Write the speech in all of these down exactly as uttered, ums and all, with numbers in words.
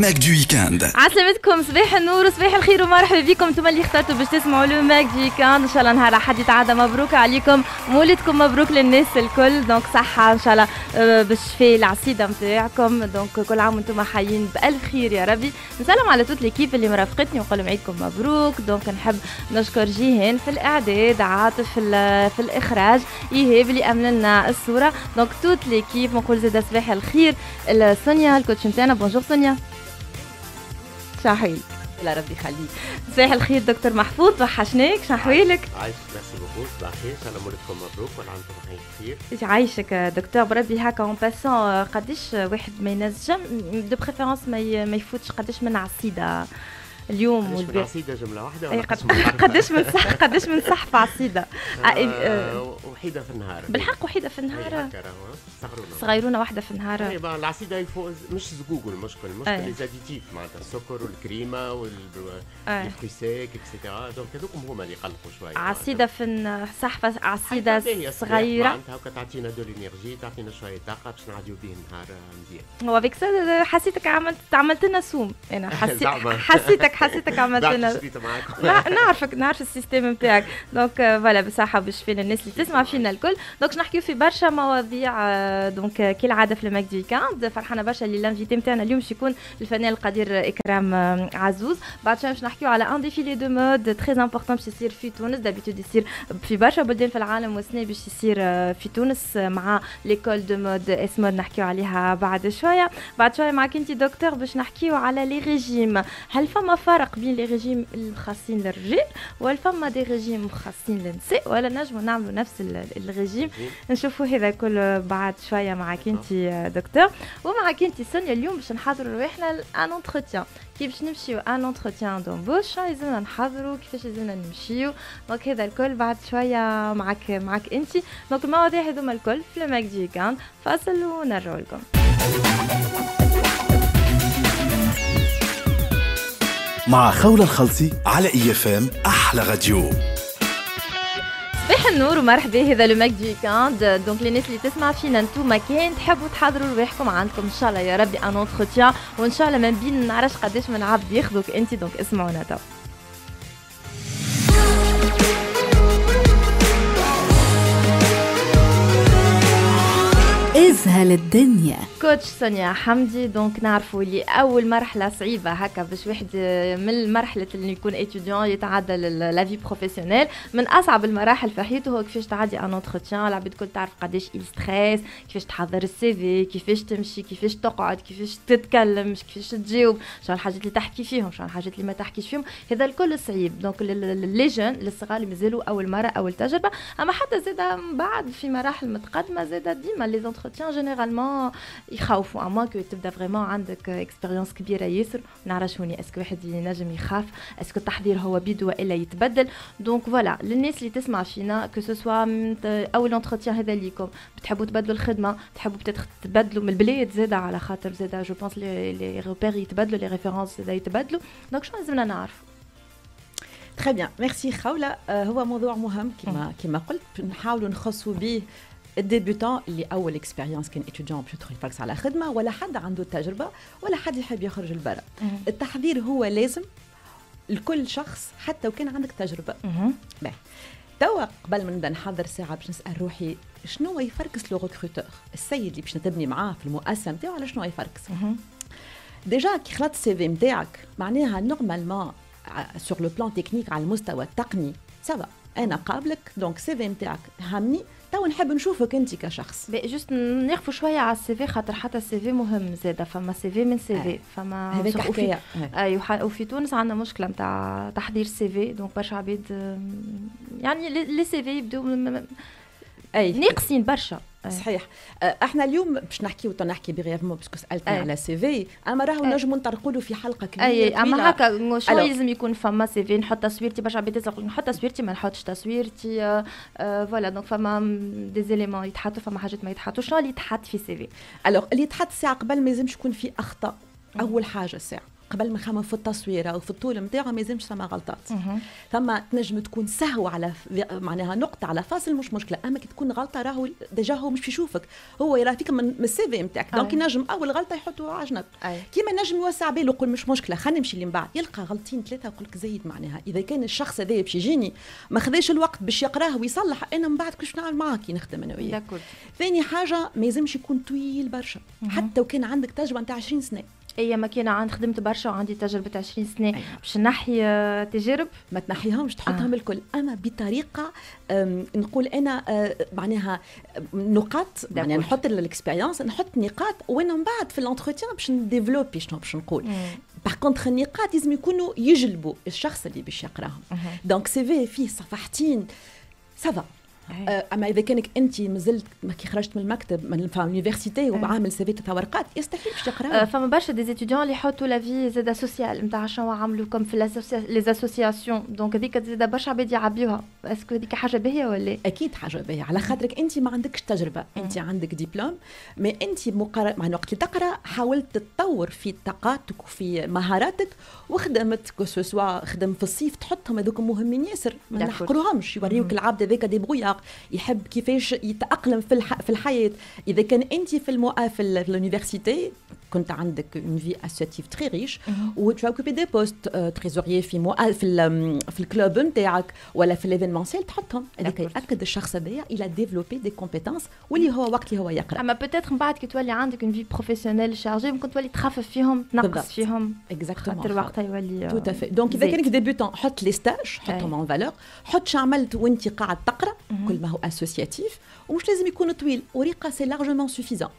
Mag du Weekend. عسلامتكم، صباح النور وصباح الخير ومرحبا بكم انتم اللي اخترتوا باش تسمعوا le Mag du Weekend. ان شاء الله نهار احد يتعدى مبروك عليكم، مولدكم مبروك للناس الكل. donc صحة ان شاء الله بالشفاء العصيده نتاعكم. donc كل عام وانتم حيين بالف خير يا ربي. نسلم على toute l'équipe اللي مرافقتني ونقول لهم عيدكم مبروك. donc نحب نشكر جيهان في الاعداد، عاطف في, في الاخراج، ايهاب اللي امن لنا الصورة. donc toute l'équipe نقول زاد صباح الخير سونيا ال coach نتاعنا. bonjour سونيا، شحويلك؟ لا ربي يخليك. صباح الخير دكتور محفوظ، وحشناك، شحويلك؟ عايشك، merci beaucoup. صباح الخير، ان شاء الله مولدكم مبروك وكل عام وانتم بخير. عايشك دكتور. بربي هكا en passant، قداش واحد ما ينجم de préférence ما يفوتش قداش من عصيده اليوم؟ قداش من عصيده جملة واحدة ولا قداش من صح قداش من صحفه عصيده؟ آه وحيده في النهار. بالحق وحيده في النهار؟ صغرونا صغيرونه واحدة في النهار. اي العصيده مش زقوق، المشكل المشكل les additifs معناتها السكر والكريمه وال fruits secs et cetera. donc هذوك هما اللي يقلقوا شوية. عصيده في صحفه عصيده صغيرة معناتها هكا تعطينا de l'énergie، تعطينا شوية طاقة باش نعديو به النهار مزيان. هو avec حسيتك عملت عملت لنا سوم، انا حسيت حسيتك حسيتك عملت لنا. نعرفك، نعرف ال système نتاعك. donc voilà، بصحة وبالشفاء للناس اللي تسمع فينا الكل. donc نحكيو في برشا مواضيع donc كالعادة في ال Mag du Weekend. فرحانة برشا اللي l'invité نتاعنا اليوم باش يكون الفنان القدير اكرام عزوز. بعد شوية باش نحكيو على un défilé de mode très important باش يصير في تونس. d'habitude يصير في برشا بلدان في العالم، والسنة باش يصير في تونس مع l'école de mode ESMOD، نحكيو عليها بعد شوية. بعد شوية معك انت دكتور باش نحكيو على les régimes. هل فما فرق بين les régimes المخصصين للرجال ولا فما des régimes مخصصين للنساء، ولا نجموا نعملوا نفس الريجيم؟ نشوفوا هذا كل بعد شوية معك انت دكتور. ومعك انت سونيا اليوم باش نحضروا رواحنا un entretien. كيف باش نمشيو un entretien d'embauche لازمنا نحضروا كيفاش لازمنا نمشيو. donc هذا الكل بعد شوية معك معك انت. donc المواضيع هذوما الكل في ال Mag du Weekend. فاصل ونرجعوا لكم. مع خولة الخلصي على IFM احلى راديو. صباح النور ومرحبا، هذا le Mag du Weekend. donc للناس اللي تسمع فينا انتوما كان تحبوا تحضروا رواحكم، عندكم ان شاء الله يا ربي un entretien، وان شاء الله من بين نعرفش قداش من عبد ياخذوك انت. donc اسمعونا تو. ازهل الدنيا. coach سونيا حمدي، donc نعرفوا اللي اول مرحلة صعيبة هكا باش واحد من مرحلة اللي يكون étudiant يتعدى la vie professionnelle، من اصعب المراحل في حياته هو كيفاش تعدي un entretien. العباد الكل تعرف قداش il stresse، كيفاش تحضر ال CV، كيفاش تمشي، كيفاش تقعد، كيفاش تتكلم، كيفاش تجاوب، شنو الحاجات اللي تحكي فيهم، شنو الحاجات اللي ما تحكيش فيهم. هذا الكل صعيب. donc les jeunes الصغار اللي مازالوا اول مرة اول تجربه، اما حتى زاد من بعد في مراحل متقدمة زاد ديما les entretiens généralement يخوفوا، à moins que تبدا vraiment عندك expérience كبيرة ياسر. نعرفش هوني est-ce que واحد ينجم يخاف، est-ce que التحضير هو بيدو والا يتبدل. donc voilà للناس اللي تسمع فينا، que ce soit اول entretien هذا ليكم، بتحبوا تبدلوا الخدمة، تحبوا تبدلوا من البلاد زاده، على خاطر زاده je pense les repères يتبدلوا، les références زاده يتبدلوا. donc شنو لازمنا نعرفوا؟ très bien، merci خوله. هو موضوع مهم كما كما قلت، نحاولوا نخصوا به ال débutant اللي اول expérience كان étudiant باش يدخل يفركس على خدمة، ولا حد عنده تجربه، ولا حد يحب يخرج لبرا. التحضير هو لازم لكل شخص حتى وكان عندك تجربه. باهي، توا قبل ما نبدا نحضر ساعة باش نسال روحي شنو يفركس le recruteur، السيد اللي باش نتبني معاه في المؤسسة نتاعو، على شنو يفركس. déjà كي خلطت ال CV نتاعك معناها normalement sur le plan technique، على المستوى التقني ça va، انا قابلك، donc CV نتاعك همني، تو نحب نشوفك انت كشخص. juste نقفوا شوية على ال CV، خاطر حتى ال CV مهم زاده. فما CV من CV، فما هذاك حكاية. اي وفي تونس عندنا مشكلة نتاع تحضير CV. donc برشا عباد يعني les CV يبدو اي ناقصين برشا. صحيح. احنا اليوم باش نحكيو نحكي brièvement parce que سالتني على CV، اما راهو نجموا نطرقوا له في حلقة كبيرة. اي اما هكا شنو لازم يكون فما CV؟ نحط تصويرتي، برشا عباد تسال نحط تصويرتي ما نحطش تصويرتي. voilà donc فما des éléments يتحطوا، فما حاجات ما يتحطوش. شنو اللي يتحط في CV؟ alors اللي يتحط ساعة قبل ما لازمش يكون في اخطاء. اول حاجة ساعة قبل ما نخمم في التصويره وفي الطول نتاعو ما يلزمش ثم غلطات. ثم تنجم تكون سهو على معناها نقطة على فاصل مش مشكله، اما كي تكون غلطه راهو déjà هو مش يشوفك، هو يرى فيك من ال CV نتاعك، donc ينجم اول غلطه يحطوها على جنب. كيما نجم يوسع باله يقول مش مشكلة خلينا نمشي اللي من بعد، يلقى غلطين ثلاثة ويقول لك زايد. معناها اذا كان الشخص هذا باش يجيني ما خذاش الوقت باش يقراه ويصلح، انا من بعد كيفاش نعمل معاه كي نخدم انا وياه. ثاني حاجة ما يلزمش يكون طويل برشا، حتى وكان عندك تجربه نتاع عشرين سنة. اي ما كان عند خدمت برشا وعندي تجربه عشرين سنة. أيوة. باش نحي تجارب ما تنحيهمش، تحطهم آه. الكل، اما بطريقة نقول انا معناها نقاط، معناها نحط ال expérience، نحط نقاط وانا من بعد في l'entretien باش ن développer شنو باش نقول. par contre النقاط لازم يكونوا يجلبوا الشخص اللي باش يقراهم. donc CV فيه صفحتين ça va، اما اذا كانك انت مازلت ما كي خرجت من المكتب من ال université وعامل CV ثلاث ورقات يستحيل باش تقرا. فما برشا des étudiants اللي يحطوا la vie زاده sociale نتاع شنو عملوا comme في les associations، donc هذيك زاده برشا عباد يعبيوها. est-ce que هذيك حاجة باهيه ولا؟ اكيد حاجة باهيه، على خاطرك انت ما عندكش تجربه، انت عندك diplôme، mais انت مقارنة مع وقت اللي تقرا حاولت تتطور في طاقاتك وفي مهاراتك وخدمت، que ce soit خدم في الصيف، تحطهم هذوك مهمين ياسر، ما نحقروهمش، يوريوك العبد هذاك débrouillard، يحب كيفاش يتاقلم في الح... في الحياة. اذا كان انت في المؤ في ال université كنت عندك une vie associative très riche و tu occupais des postes trésorier في مؤ... في ال... في ال club نتاعك ولا في l'événementiel، تحطهم، هذاك ياكد الشخص هذايا il a développé des compétences واللي هو وقت اللي هو يقرا. اما peut-être من بعد كي تولي عندك une vie professionnelle chargée ممكن تولي تخفف فيهم، تنقص فيهم، exactement، خاطر وقتها يولي tout à fait. donc اذا كانك débutant حط les stages، حطهم en valeur، حط شو عملت وانت قاعد تقرا، كل ما هو associatif، ومش لازم يكون طويل، ورقة c'est largement suffisant.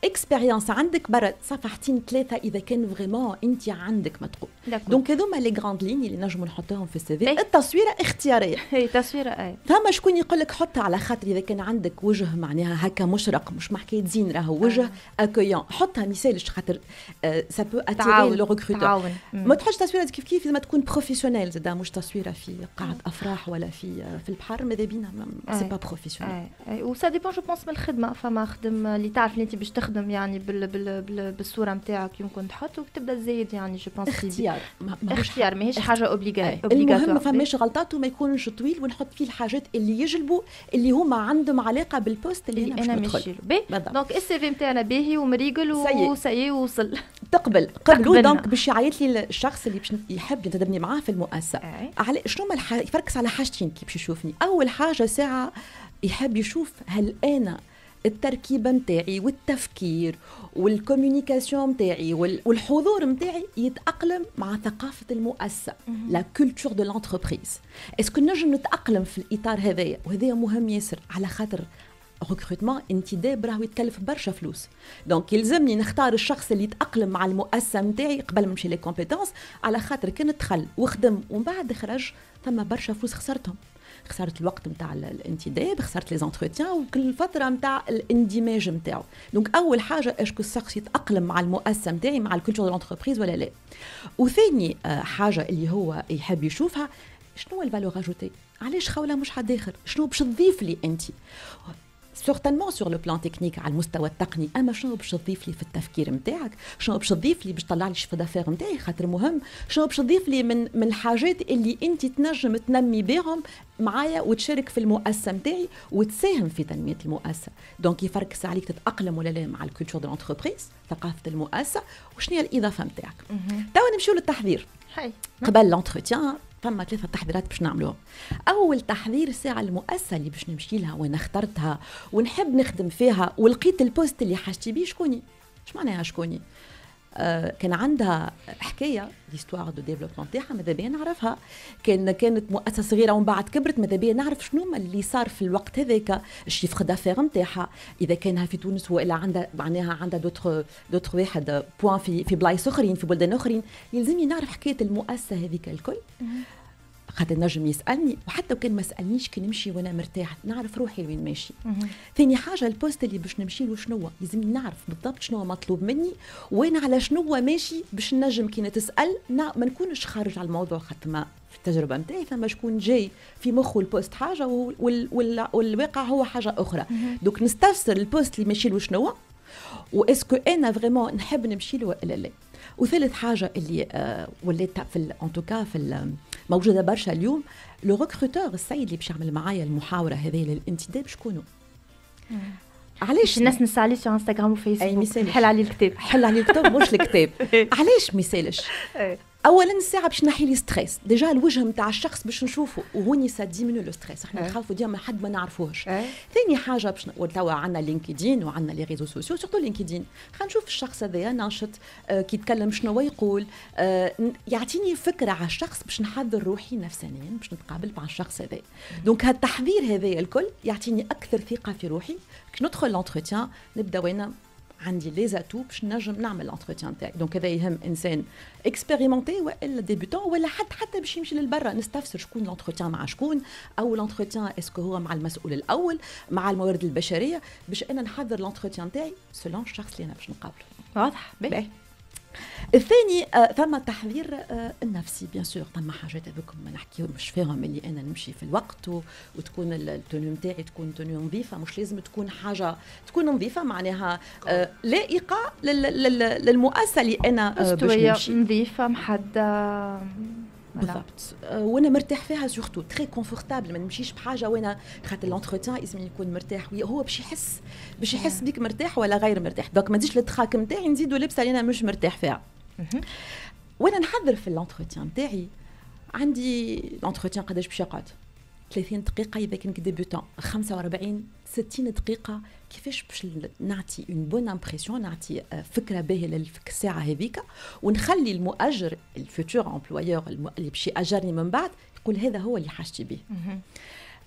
expérience عندك برا صفحتين ثلاثة اذا كان vraiment انت عندك ما تقول. donc هذوما les grandes lignes اللي نجموا نحطوهم في ال CV. التصويره اختياريه. اي تصويره اي. ثم شكون يقول لك حطها على خاطر اذا كان عندك وجه معناها هكا مشرق، مش محكاية زين، راهو وجه accueillant، حطها ميسالش خاطر ça peut attirer le recruteur. ما تحطش تصويره كيف كيف ما تكون professionnelle زاد، مش تصويره في قاعة افراح ولا في في البحر، ماذا بينا c'est pas professionnel. و ça dépend je pense من الخدمه، فما خدم اللي تعرف اللي انت باش تخدم يعني بال بال بال بالصورة نتاعك يمكن تحط وتبدا زايد، يعني je pense اختيار. اختيار ماهيش حاجة obligatoire. المهم ما فماش غلطات وما يكونش طويل، ونحط فيه الحاجات اللي يجلبوا اللي هما عندهم علاقة بال poste اللي, اللي انا ماشي له. donc ال CV نتاعنا باهي ومريقل و ça y est وصل. تقبل قبلوا، donc باش يعيط لي الشخص اللي باش يحب ينتدبني معاه في المؤسسه. على شنو الح... يفركس على حاجتين كي باش يشوفني. اول حاجة ساعة يحب يشوف هل انا التركيبة نتاعي والتفكير وال communication نتاعي والحضور نتاعي يتاقلم مع ثقافة المؤسسه، la culture de l'entreprise. est-ce que نجم نتاقلم في الاطار هذايا؟ وهذايا مهم ياسر على خاطر recrutement انتداب راهو يتكلف برشا فلوس، donc يلزمني نختار الشخص اللي يتاقلم مع المؤسسة نتاعي قبل ما نمشي les compétences، على خاطر كان دخل وخدم ومن بعد خرج ثم برشا فلوس خسرتهم، خسرت الوقت نتاع الانتداب، خسرت les entretiens وكل فترة نتاع الاندماج نتاعو. donc اول حاجة est-ce que الشخص يتاقلم مع المؤسسة نتاعي، مع ال culture de l'entreprise ولا لا. وثاني حاجة اللي هو يحب يشوفها شنو ال valeur ajoutée، علاش خوله مش حد اخر، شنو باش تضيف لي انت certainement sur le plan technique على المستوى التقني، اما شنو باش تضيف لي في التفكير نتاعك، شنو باش تضيف لي باش تطلع لي chiffre d'affaires نتاعي خاطر مهم، شنو باش تضيف لي من من الحاجات اللي انت تنجم تنمي بهم معايا وتشارك في المؤسسة نتاعي وتساهم في تنمية المؤسسة. donc يفركس عليك تتاقلم ولا لا مع ال culture de l'entreprise، ثقافة المؤسسه، وشنو هي الاضافة نتاعك. توا نمشيو للتحضير قبل l'entretien. فما ثلاثة تحضيرات باش نعملوهم. أول تحضير ساعة المؤسسة اللي باش نمشي لها وأنا اخترتها ونحب نخدم فيها ولقيت ال poste اللي حاجتي بيه، شكوني؟ اش معناها شكوني؟ آه كان عندها حكاية l'histoire de développement تاعها ماذا بيا نعرفها، كان كانت مؤسسة صغيرة ومن بعد كبرت ماذا بيا نعرف شنو اللي صار في الوقت هذاك، ال chiffre d'affaires نتاعها اذا كانها في تونس والا عندها معناها عندها d'autres d'autres واحد points في في بلايص اخرين في بلدان اخرين، يلزمني نعرف حكاية المؤسسة هذيك الكل. خاطر نجم يسالني، وحتى وكان ما سالنيش كي نمشي وانا مرتاح نعرف روحي وين ماشي. ثاني حاجة ال poste اللي باش نمشي له شنو، لازم نعرف بالضبط شنو مطلوب مني وين على شنو ماشي باش نجم كي نتسال ما نكونش خارج على الموضوع، خاطر ما في التجربة نتاعي ثم شكون جاي في مخه ال poste حاجة وال وال والواقع هو حاجة اخرى. donc نستفسر ال poste اللي ماشي له شنو، و est-ce que انا vraiment نحب نمشي له ولا لا. وثالث حاجة اللي آه ولات في en tout cas في موجودة برشا اليوم، le recruteur، السيد اللي باش يعمل معايا المحاوره هذه للانتداب، شكونه؟ علاش الناس نسى عليه في انستغرام وفيسبوك؟ حل عليه الكتاب، حل عليه الكتاب مش الكتاب. علاش ما يسالش؟ اولا الساعة باش نحي لي stress، déjà الوجه نتاع الشخص باش نشوفه، وهوني ça diminue le stress، احنا نخافوا ديما حد ما نعرفوهش. ثاني حاجة باش توا عندنا LinkedIn وعندنا les réseaux sociaux، surtout LinkedIn، خلينا نشوف الشخص هذايا ناشط، آه كي يتكلم شنو يقول، آه يعطيني فكرة على الشخص باش نحضر روحي نفسانيا باش نتقابل مع الشخص هذا. donc هالتحضير هذايا الكل يعطيني اكثر ثقة في روحي كي ندخل l'entretien، نبدا وانا عندي les atouts باش نجم نعمل l'entretien تاعي. donc هذا يهم انسان expérimenté والا débutant ولا حد حتى باش يمشي للبرا، نستفسر شكون l'entretien مع شكون، او l'entretien est-ce que هو مع المسؤول الاول، مع الموارد البشريه، باش انا نحضر l'entretien تاعي selon الشخص اللي انا باش نقابله. واضح. باهي. الثاني آه ثم التحضير آه النفسي، bien sûr ثم حاجات هذوك ما نحكيو مش فيهم، اللي انا نمشي في الوقت و... وتكون ال tenue نتاعي تكون tenue نظيفه، مش لازم تكون حاجة تكون نظيفة معناها آه لائقة لل... لل... للمؤسسه اللي انا آه باش نمشي. نظيفة محددة. بالضبط، وانا مرتاح فيها، surtout très confortable، ما نمشيش بحاجة وانا خاطر l'entretien لازم يكون مرتاح، هو باش يحس باش يحس بيك مرتاح ولا غير مرتاح. donc ما نزيدش ال trac نتاعي نزيدوا لبسه اللي انا مش مرتاح فيها. وانا نحضر في l'entretien نتاعي، عندي l'entretien قداش باش يقعد؟ ثلاثين دقيقة إذا كان débutant، خمسة وأربعين، ستين دقيقة. كيفاش باش نعطي une bonne impression، نعطي فكرة باهية للساعة هذيك، ونخلي المؤجر، ال futur employeur اللي باش يأجرني من بعد، يقول هذا هو اللي حاجتي به.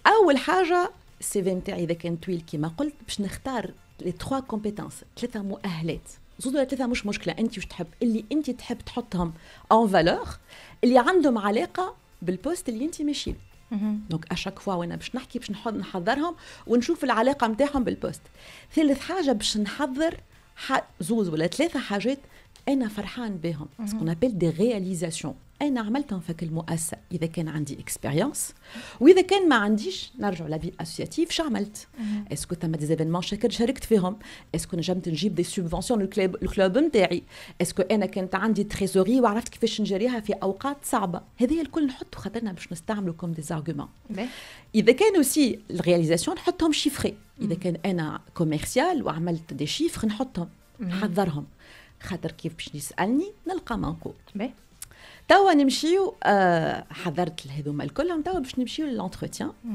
أول حاجة ال CV نتاعي إذا كان طويل كما قلت، باش نختار les trois compétences، ثلاثة مؤهلات، زوز ولا ثلاثة مش مشكلة، أنت واش تحب، اللي أنت تحب تحطهم en valeur، اللي عندهم علاقة بال poste اللي أنت ماشي. donc à chaque fois وانا باش نحكي باش نحضرهم ونشوف العلاقة نتاعهم بال poste. ثالث حاجة باش نحضر زوز ولا ثلاثة حاجات انا فرحان بهم، ce qu'on appelle des réalisations انا عملتهم في المؤسسة اذا كان عندي expérience، واذا كان ما عنديش نرجع la vie associative، شو عملت؟ est-ce que ثم des événements شاركت فيهم؟ est-ce que نجمت نجيب des subventions لل club ال club نتاعي؟ est-ce que انا كانت عندي trésorerie وعرفت كيفاش نجريها في اوقات صعبه؟ هذه الكل نحطوا خاطرنا باش نستعملوا comme des arguments. اذا كان aussi ال réalisations نحطهم chiffrées، اذا كان انا commercial وعملت des chiffres نحطهم، نحضرهم، خاطر كيف باش يسالني نلقى ما نقول. توا نمشيو، آه حضرت هذوما الكلهم، توا باش نمشيو ل l'entretien.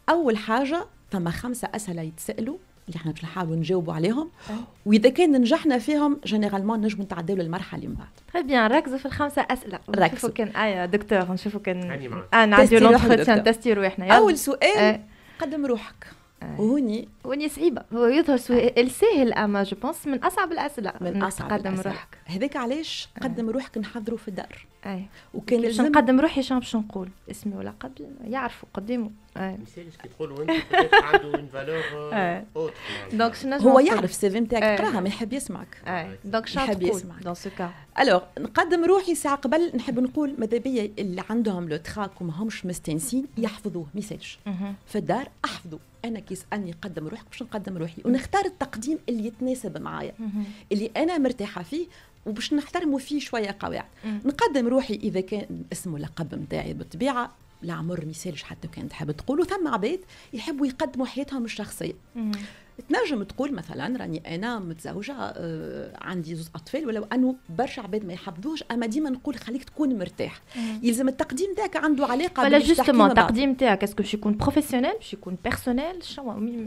اول حاجة ثم خمسة اسئلة يتسالوا اللي احنا باش نحاولوا نجاوبوا عليهم، واذا كان نجحنا فيهم généralement نجموا نتعداو للمرحلة اللي من بعد. très bien، ركزوا في الخمسة اسئله. نشوفوا كان ايا دكتور، نشوفوا كان اه نعديو l'entretien، تستي روحنا. اول سؤال آه. قدم روحك. وهوني هوني صعيبه، هو يظهر سؤال ساهل اما je pense من اصعب الاسئله. من اصعب قدم روحك. هذاك علاش قدم روحك نحضروا في الدار. اي، وكان باش نقدم روحي شنو باش نقول؟ اسمي ولقبي يعرفوا قدامه. اي، ما كي تقولوا انت عنده une valeur. donc شنو؟ هو يعرف ال CV نتاعك قراها، ما يحب يسمعك. اي، donc شنو يحب يسمعك dans ce cas؟ alors نقدم روحي ساعة قبل، نحب نقول ماذا بيا اللي عندهم le trac وما همش مستانسين يحفظوه، ما يسالش في الدار احفظوا. انا كي يسالني قدم روحك باش نقدم روحي ونختار التقديم اللي يتناسب معايا، اللي انا مرتاحة فيه، وباش نحترموا فيه شوية قواعد. نقدم روحي اذا كان اسمه لقب نتاعي بالطبيعه، العمر ما يسالش حتى كان تحب تقولوا. ثم عباد يحبوا يقدموا حياتهم الشخصيه، تنجم تقول مثلا راني انا متزوجه، آه عندي زوج اطفال، ولو انه برشا عباد ما يحبذوش، اما ديما نقول خليك تكون مرتاح. يلزم التقديم تاعك عنده علاقة. ولا justement التقديم تاعك est-ce que باش يكون professionnel، باش يكون personnel؟ شنو؟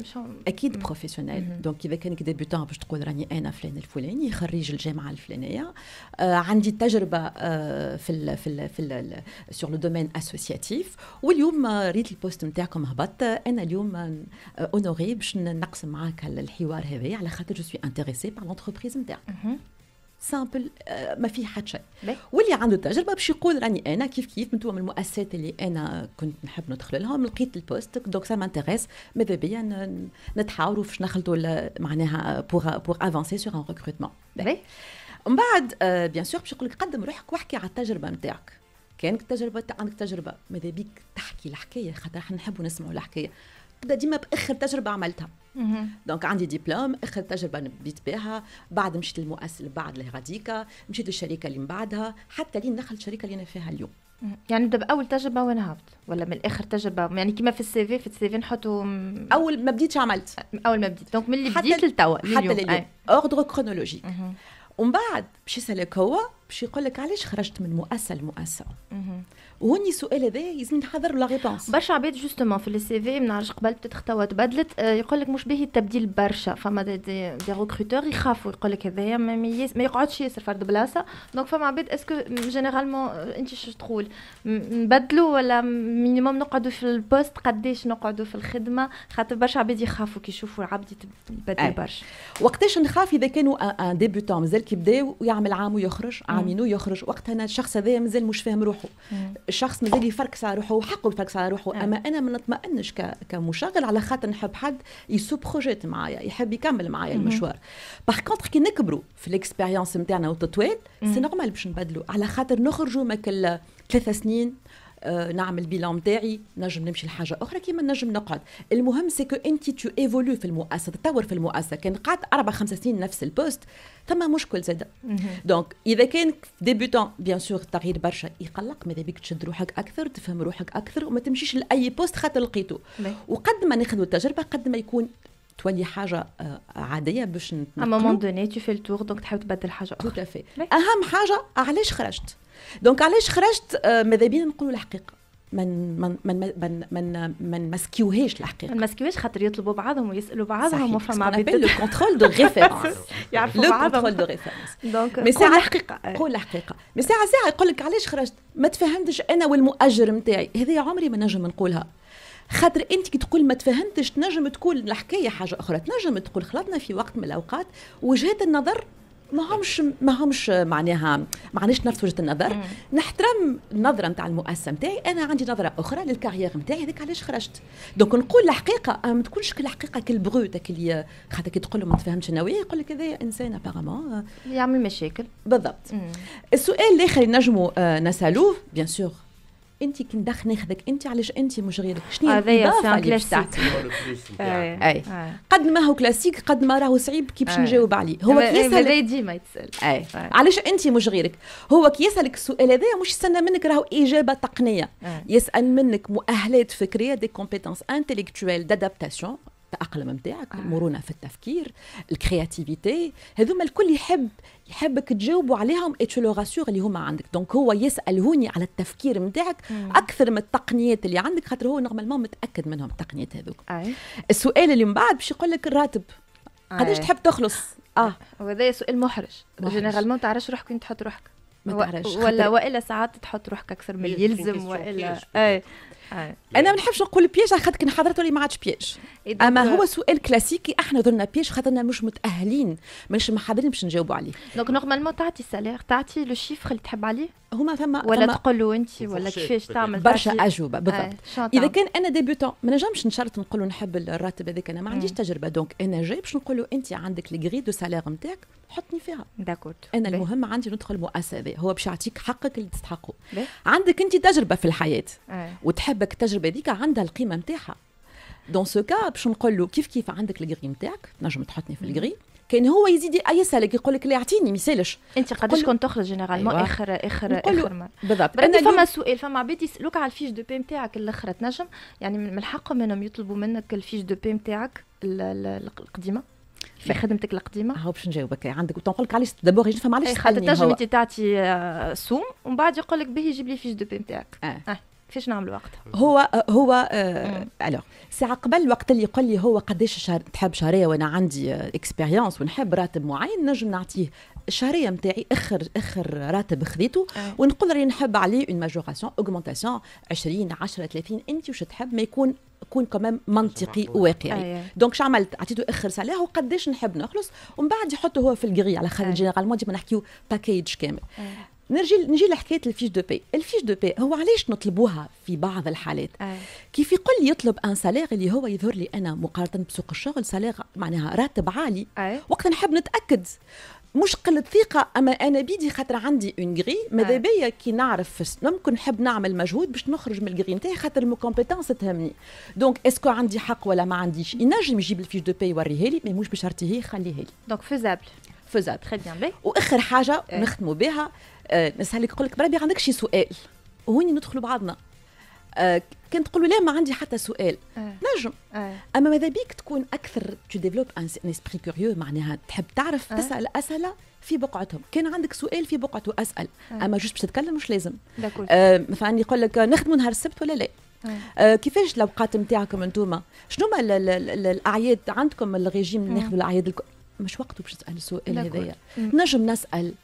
اكيد professionnel. donc اذا كانك débutant باش تقول راني انا فلان الفلاني، خريج الجامعة الفلانيه، آه عندي تجربه آه في ال في ال في ال sur le domaine associatif، واليوم ريت ال poste نتاعكم هبط، انا اليوم honorée باش نقسم معاك الحوار هذا على خاطر je suis intéressée par l'entreprise نتاعك. simple، ما فيه حتى شيء. واللي عنده تجربه باش يقول راني انا كيف كيف من المؤسسات اللي انا كنت نحب ندخل لهم، لقيت ال poste donc ça m'intéresse، ماذا بيا نتحاوروا باش نخلطوا معناها pour pour avancer sur un recrutement. من بعد bien sûr باش يقول لك قدم روحك واحكي على التجربة نتاعك. كانك تجربه، عندك تجربه، ماذا بيك تحكي الحكايه، خاطر احنا نحبوا نسمعوا الحكايه. تبدا ديما باخر تجربه عملتها. donc عندي ديبلوم، اخر تجربه بديت بها، بعد مشيت للمؤسسه اللي بعد لغاديكا، مشيت للشركة اللي من بعدها، حتى لين دخلت الشركة اللي انا فيها اليوم. يعني نبدا باول تجربه وين هبط ولا من اخر تجربه؟ يعني كيما في ال CV، في ال CV نحطوا اول ما بديت عملت، اول ما بديت، donc من اللي بديت لتوا. حتى لليوم، ordre chronologique. ومن بعد باش يسالك هو، باش يقول لك علاش خرجت من مؤسسة لمؤسسه. وهوني السؤال هذا لازم نحضر la réponse. برشا عباد justement في ال CV، ما نعرفش قبل peut-être توا تبدلت، آه، يقول لك مش باهي التبديل برشا. فما des, des, des recruteurs يخافوا، يقول لك هذايا ما, ما يقعدش ياسر فرد بلاصه. donc فما عباد، est-ce que généralement انت شو تقول، نبدلوا ولا minimum نقعدوا في ال poste؟ قداش نقعدوا في الخدمه؟ خاطر برشا عباد يخافوا كي يشوفوا العبد يتبدل برشا. وقتاش نخاف؟ اذا كانوا un débutant مازال كي بدا ويعمل عام ويخرج، عامين ويخرج، وقتها الشخص هذا مازال مش فاهم روحه. الشخص مازال يفركس على روحه وحقه يفركس على روحه. اما انا ما نطمئنش كمشغل على خاطر نحب حد il se projette معايا، يحب يكمل معايا المشوار. par contre كي نكبروا في l'expérience نتاعنا وتطويل، c'est normal باش نبدلوا، على خاطر نخرجوا ماكل ثلاث سنين، آه، نعمل bilan نتاعي، نجم نمشي لحاجة اخرى كيما نجم نقعد. المهم c'est que انت tu évolues في المؤسسه، تطور في المؤسسه. كان قعدت اربع خمس سنين نفس ال poste، ثم مشكل زاد. donc اذا كان débutant، bien sûr التغيير برشا يقلق، ماذا بيك تشد روحك اكثر، تفهم روحك اكثر، وما تمشيش لاي poste خاطر لقيته. وقد ما ناخذ التجربة قد ما يكون تولي حاجة آه، عادية باش à un moment donné tu fais le tour، donc تحاول تبدل حاجة اخرى. tout à fait. اهم حاجة علاش خرجت. donc علاش خرجت، آه، ماذا بينا نقولوا الحقيقه، من من من من من ما نمسكيوهاش الحقيقه. ما نمسكيوهاش خاطر يطلبوا بعضهم ويسالوا بعضهم. وفما عباد le contrôle de référence. يعرفوا بعضهم، le contrôle de référence. donc mais ساعة الحقيقه، قول الحقيقه. mais ساعة ساعة يقول لك علاش خرجت، ما تفهمتش انا والمؤجر نتاعي. هذه عمري ما نجم نقولها، خاطر انت كي تقول ما تفهمتش تنجم تقول الحكاية حاجة اخرى، تنجم تقول خلطنا في وقت من الاوقات وجهات النظر ما همش ما همش معناها ما عندناش نفس وجهه النظر. نحترم النظرة نتاع المؤسسة نتاعي، انا عندي نظره اخرى لل carrière نتاعي، هذاك علاش خرجت. donc نقول الحقيقه، ما تكونش كل الحقيقة كل brute اللي خاطر كي تقول له ما تفهمش انا وياه يقول لك هذا انسان apparemment يعمل مشاكل. بالضبط. السؤال الاخر اللي نجموا آه، نسالوه، bien sûr انت كي ندخل ناخذك انت، علاش انت مش غيرك؟ شنو هي الاضافة اللي باش تعطي؟ اي، قد ما هو كلاسيك قد ما راهو صعيب كي باش نجاوب عليه. هو كي يسال ديما يتسال. اي، علاش انت مش غيرك؟ هو كي يسالك السؤال هذا مش يستنى منك راهو اجابه تقنيه، يسال منك مؤهلات فكريه، des compétences intellectuelles d'adaptation، التأقلم نتاعك، المرونة في التفكير، ال créativité، هذوما الكل يحب يحبك تجاوبوا عليهم et tu le rassures اللي هما عندك. donc هو يسال هوني على التفكير نتاعك اكثر من التقنيات اللي عندك، خاطر هو normalement متاكد منهم التقنيات هذوك. السؤال اللي من بعد باش يقول لك الراتب، قداش تحب تخلص؟ اه وهذا سؤال محرج. généralement تعرفش روحك وين تحط روحك. ما تعرفش. ولا والا ساعات تحط روحك اكثر من اللي يلزم والا اي. انا ما نحبش نقول piège على خاطر كي حضرت لي ما عادش piège، اما هو سؤال كلاسيكي، احنا درنا piège خاطرنا مش متاهلين، مش محضرين باش نجاوبوا عليه. donc normalement تعطي salaire، تعطي le chiffre اللي تحب عليه؟ هما ثم ولا تقول له انت ولا كيفاش تعمل؟ برشا اجوبه، بالضبط. اذا كان انا débutant ما نجمش نشرط نقول له نحب الراتب هذاك، انا ما عنديش تجربه. donc انا جاي باش نقول له انت عندك les grilles de salaire نتاعك، حطني فيها. d'accord. انا المهم عندي ندخل المؤسسة هذه، هو باش يعطيك حقك اللي تستحقه. عندك انت تجربه في الحياة وتحبك التجربة هذيك عندها القيمة نتاعها، dans ce cas باش نقول له كيف كيف عندك ال grille نتاعك، تنجم تحطني في ال grille. كان هو يزيد يسالك يقول لك لا اعطيني ما يسالش. انت قداش كنت تخرج généralement؟ أيوة. اخر اخر اخر مرة بالضبط. انا فما سؤال، فما عباد يسالوك على ال fiche de paie نتاعك الاخرى، تنجم يعني من حقهم انهم يطلبوا منك ال fiche de paie نتاعك القديمة في خدمتك القديمه؟ هاو باش نجاوبك، عندك نقول لك علاش d'abord نفهم علاش. خاطر تنجم انت تعطي آه، سوم ومن بعد يقول لك به جيب لي fiche de paie نتاعك. آه. آه. كيفاش نعملوا وقتها؟ هو هو آه alors ساعة قبل وقت اللي يقول لي هو قداش شهر تحب شهرية وانا عندي expérience ونحب راتب معين، نجم نعطيه الشهرية نتاعي، اخر اخر راتب خذيته، آه. ونقول راني نحب عليه une majoration، augmentation عشرين، عشرة، ثلاثين، انت وش تحب، ما يكون يكون quand même منطقي وواقعي. donc شو عملت؟ عطيته اخر salaire وقداش نحب نخلص، ومن بعد يحطه هو في ال grille، على خاطر généralement ديما نحكيو package كامل. نرجي نجي لحكاية ال fiche de paie. ال fiche de paie هو علاش نطلبوها في بعض الحالات؟ أي. كيف يقول لي يطلب un salaire اللي هو يظهر لي انا مقارنة بسوق الشغل salaire معناها راتب عالي. أي. وقت نحب نتاكد مش قلة ثقة، اما انا بيدي خاطر عندي une grille، ماذا بيا كي نعرف ممكن نحب نعمل مجهود باش نخرج من ال grille نتاعي خاطر ال compétence تهمني. donc est-ce que عندي حق ولا ما عنديش؟ ينجم يجيب ال fiche de paie يوريها لي، mais مش بشرطي هي خليها لي. donc faisable faisable très bien. واخر حاجة نختموا بها، آه نسالك نقول لك بربي عندك شي سؤال؟ وهوني ندخلوا بعضنا. آه كان تقول لا ما عندي حتى سؤال، آه. نجم آه. اما ماذا بيك تكون اكثر tu développes un esprit curieux، معناها تحب تعرف، آه. تسال اسئلة في بقعتهم. كان عندك سؤال في بقعته اسال، آه. اما juste باش تتكلم مش لازم. آه مثلا يقول لك نخدموا نهار السبت ولا لا؟ آه. آه كيفاش الاوقات نتاعكم انتوما؟ شنو ما الاعياد عندكم الريجيم ناخذوا الاعياد الك... مش وقته باش تسال السؤال هذايا. نجم نسال